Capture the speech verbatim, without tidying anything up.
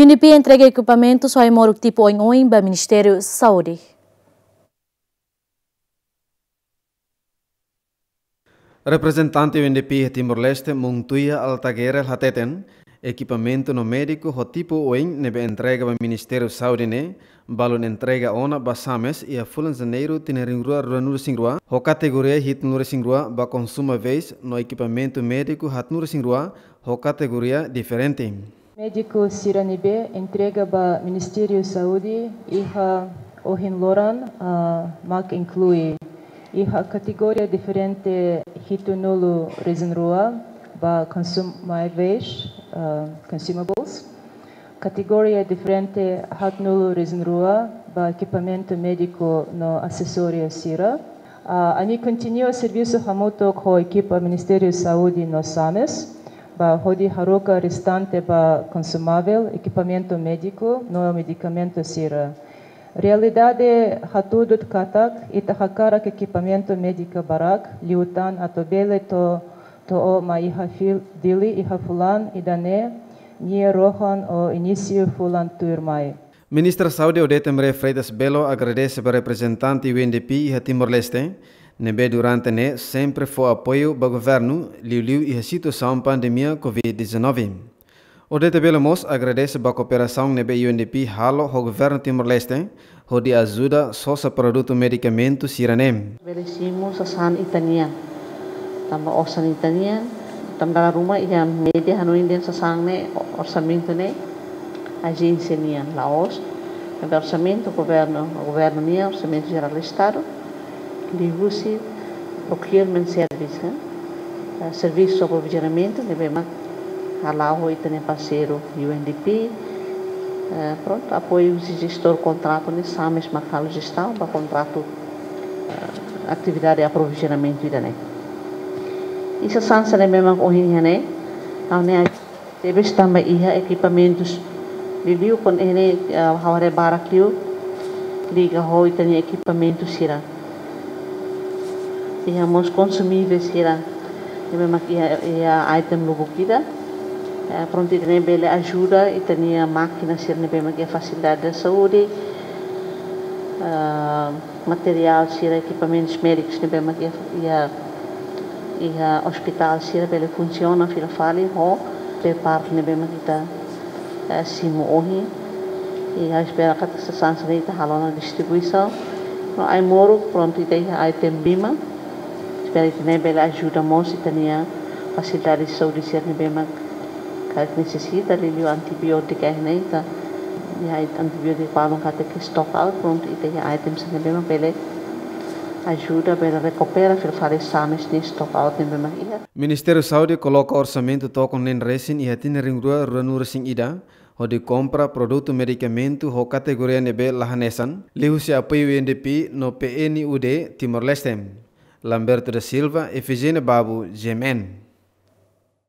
UNDP entrega ekipamentus ho ai-moruk tipu oin-oin ba Ministériu Saúde. Reprezentante UNDP iha Timor-Leste, Montuya Altagerel hateten, ekipamentu no médiku ho tipu oin ne'ebé entrega ba Ministériu Saúde ne'e, balun entrega ona ba SAMES iha fulan Janeiru tinan rihun rua ruanulu-resin-rua, ho kategoria hitunulu-resin-rua ba konsumáveis no ekipamentu médiku haatnulu-resin-rua ho kategoria diferente. Médiku sira ne'ebé entrega ba Ministériu Saúde iha ohin loron, ah, mak inklui iha kategoria diferente hitunulu-resin-rua ba konsumáveis, ah, consumables. Kategoria diferente haatnulu-resin-rua ba ekipamentu médiku no asesóriu sira. Ah, ami kontinua servisu hamutuk ho ekipa Ministériu Saúde no SAMES, ba hodi haruka restante ba konsumável, ekipamentu médiku no medikamentu sira. Realidade hatudu katak, ita hakarak ekipamentu médiku barak, liután atu bele to'o, to'o mai iha fila, Dili iha fulan ida-ne'e nia rohan ou inísiu fulan tuirmai. Ministra Saúde Odete Maria Freitas Belo agradese ba reprezentante UNDP iha Timor-Leste, ne'ebé durante ne'e sempre fó apoiu ba governu, liuliu iha situasaun pandemia covid dezanove. Odete Belo mós agradese ba kooperasaun ne'ebé UNDP halo ho governu Timor-Leste, hodi ajuda sosa produtu medikamentu sira-ne'e. Bele simu sasán ita-nian. Tanba osan ita-nian, tanba dala ruma iha média hanoin dehan sasán ne'e, orsamentu ne'e ajénsia nian, la'ós. Tanba orsamentu governu, governu nian, Orsamentu Jerál Estadu, liuhusi procurement service, eh, servisu aprovizionamentu ne'ebé mak hala'o ho ita-nia parseiru UNDP. Eh, prontu, apoiu husi jestór kontratu ne'e, SAMES mak halo jestaun ba kontratu, eh, atividade aprovizionamentu ida-ne'e. I sasán sira ne'ebé mak ohin iha ne'e, ha'u hanoin tebes tanba iha ekipamentus. Liuliu kuandu iha ne'e, eh, ha'u haree barak liu liga ho ita-nia ekipamentu sira. Iha mós konsumável sira ne'ebé mak iha, iha item lubuk ida. Eh, prontu, ida-ne'e bele ajuda ita-nia mákina sira ne'ebé mak iha fasilidade saúde. Eh, materiál sira, ekipamentus médikus ne'ebé mak iha, iha, iha ospitál sira bele funsiona fila fali ho spare part ne'ebé mak ita, eh, simu ohin. I ha'u espera katak sasán sira-ne'e ita halo ona distribuisaun. No ai-moruk prontu ita iha item lima. Espera ida-ne'e bele ajuda mós ita-nia fasilidade saúde sira ne'ebé mak karik nesesita, liuliu antibiótika, ita iha antibiótika balun katak stock out, prontu ita iha item sira ne'ebé mak bele ajuda, bele rekupera fila fali SAMES nia stock out ne'ebé mak iha. Ministériu Saúde koloka orsamentu tokon neen resin iha tinan rihun rua ruanulu-resin-ida, hodi kompra produtu medikamentu ho kategoria ne'ebé la hanesan, liuhusi apoiu UNDP no PNUD Timor-Leste. Lamberto da Silva, Efigénia Babu, GMN.